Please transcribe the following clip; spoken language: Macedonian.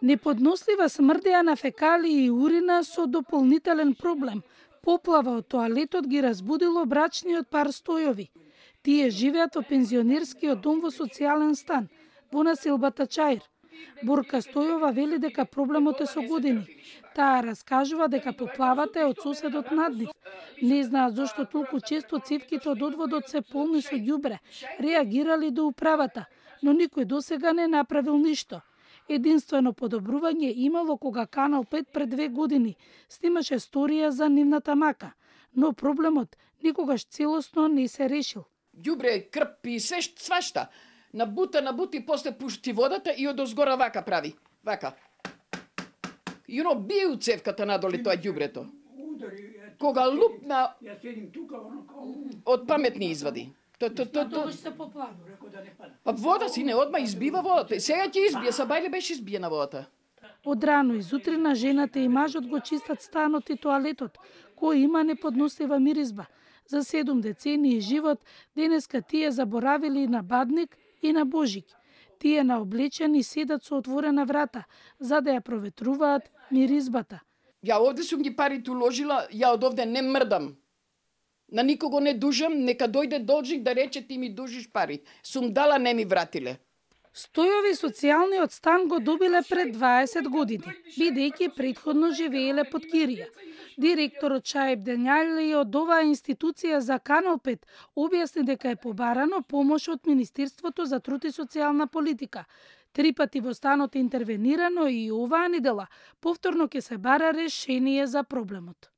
Неподнослива смрдеа на фекалии и урина со дополнителен проблем. Поплава од тоалетот ги разбудило брачниот пар Стојови. Тие живеат во пензионерскиот дом во социјален стан, во населбата Чаир. Борка Стојова вели дека проблемот е со години. Таа раскажува дека поплавата е од соседот над нив. Не знаат зошто толку често цевките од одводот се полни со ѓубре. Реагирали до управата, но никој досега не направил ништо. Единствено подобрување имало кога Канал 5 пред 2 години снимаше сторија за нивната мака, но проблемот никогаш целосно не се решил. Ѓубре, крп и свашта. Набути, после пушти водата и од озгора вака прави. Вака. И оно бие у цевката надоле тоа ѓубрето. Кога лупна, од паметни извади. Тогаш се поплава. Па вода си не одма избива водата. Сега ќе избие, сабајле беше избиена водата. Од рано изутрина жената и мажот го чистат станот и тоалетот, кој има неподнослива миризба. За 7 децении живот, денеска тие заборавили на бадник и на божик. Тие наоблечени седат со отворена врата, за да ја проветруваат миризбата. Ја овде сум ги парите уложила, ја од овде не мрдам. На никого не дужам, нека дојде должник да рече ти ми дужиш пари. Сум дала, не ми вратиле. Стојови социјалниот стан го добиле пред 20 години, бидејќи претходно живееле под кирија. Директорот Шаиб Денјали од оваа институција за Канал 5 објасни дека е побарано помош од Министерството за труд и социјална политика. 3 пати во станот е интервенирано и оваа недела повторно ќе се бара решение за проблемот.